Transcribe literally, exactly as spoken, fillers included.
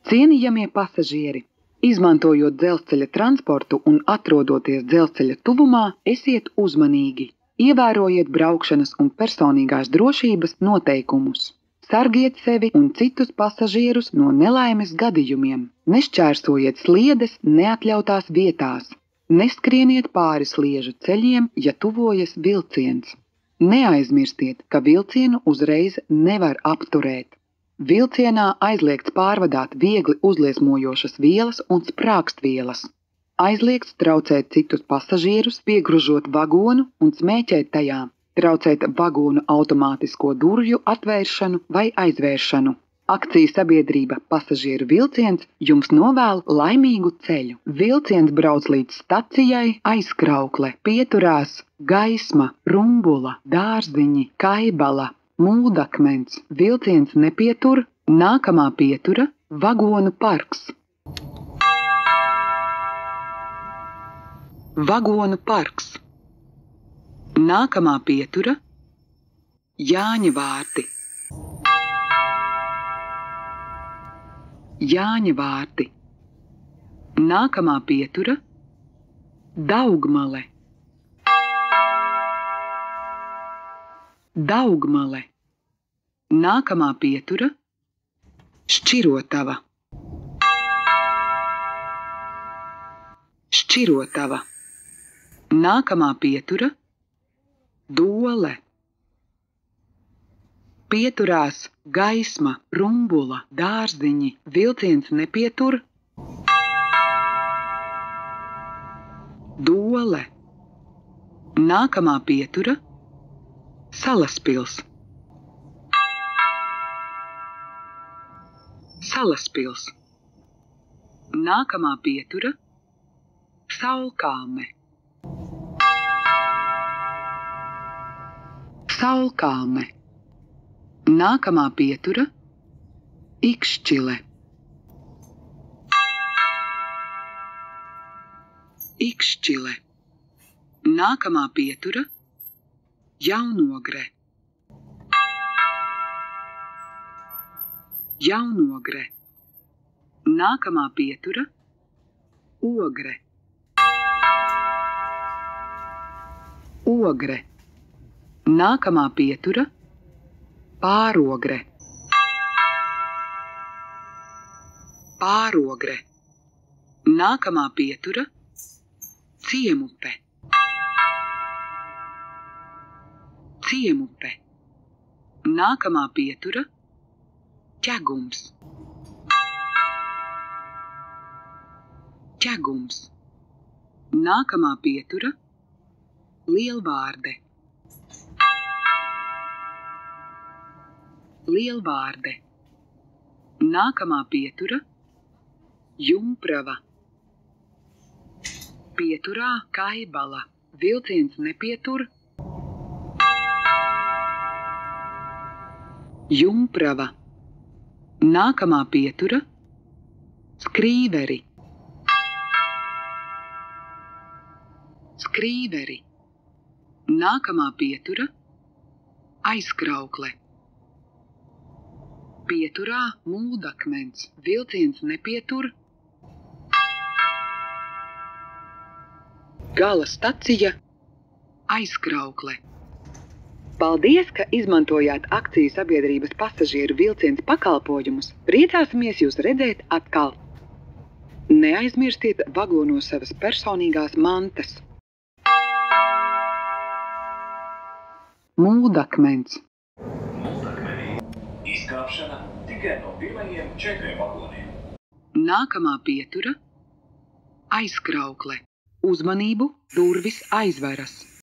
Cienījamie pasažieri, izmantojot dzelzceļa transportu un atrodoties dzelzceļa tuvumā, esiet uzmanīgi. Ievērojiet braukšanas un personīgās drošības noteikumus. Sargiet sevi un citus pasažierus no nelaimes gadījumiem. Nešķērsojiet sliedes neatļautās vietās. Neskrieniet pāri sliežu ceļiem, ja tuvojas vilciens. Neaizmirstiet, ka vilcienu uzreiz nevar apturēt. Vilcienā aizliegts pārvadāt viegli uzliesmojošas vielas un sprāgstvielas. Aizliegts traucēt citus pasažierus, piegružot vagonu un smēķēt tajā, traucēt vagonu automātisko durvju atvēršanu vai aizvēršanu. Akciju sabiedrība Pasažieru vilciens jums novēl laimīgu ceļu. Vilciens brauc līdz stacijai Aizkraukle, pieturās Gaisma, Rumbula, Dārziņi, Kaibala, Mūldakmens. Vilciens nepietur, nākamā pietura Vagonu parks. Vagonu parks. Nākamā pietura Jāņa vārti. Jāņa vārti. Nākamā pietura Daugmale. Daugmale. Nākamā pietura Šķirotava. Šķirotava. Nākamā pietura Dole. Pieturās Gaisma, Rumbula, Dārziņi. Vilciens nepietur. Dole. Nākamā pietura Salaspils. Salaspils. Nākamā pietura Saulkalme. Saulkalme. Nākamā pietura Ikšķile. Ikšķile. Nākamā pietura Jaunogre. Jaunogre. Nākamā pietura Ogre. Ogre. Nākamā pietura Pārogre. Pārogre. Nākamā pietura Ciemupe. Ciemupe. Nākamā pietura Ķegums. Ķegums. Nākamā pietura Lielvārde. Lielvārde. Nākamā pietura Jumprava. Pieturā Kaibala. Vilciens nepietur. Jumprava. Nākamā pietura Skrīveri. Skrīveri. Nākamā pietura Aizkraukle. Pieturā Mūldakmens. Vilciens nepietur. Gala stacija Aizkraukle. Paldies, ka izmantojāt akciju sabiedrības Pasažieru vilciens pakalpojumus. Priecāsimies jūs redzēt atkal. Neaizmirstiet vagonos savas personīgās mantas. Mūldakmens. Mūldakmenī izkāpšana tikai no pirmajiem četriem vagoniem. Nākamā pietura Aizkraukle. Uzmanību, durvis aizveras.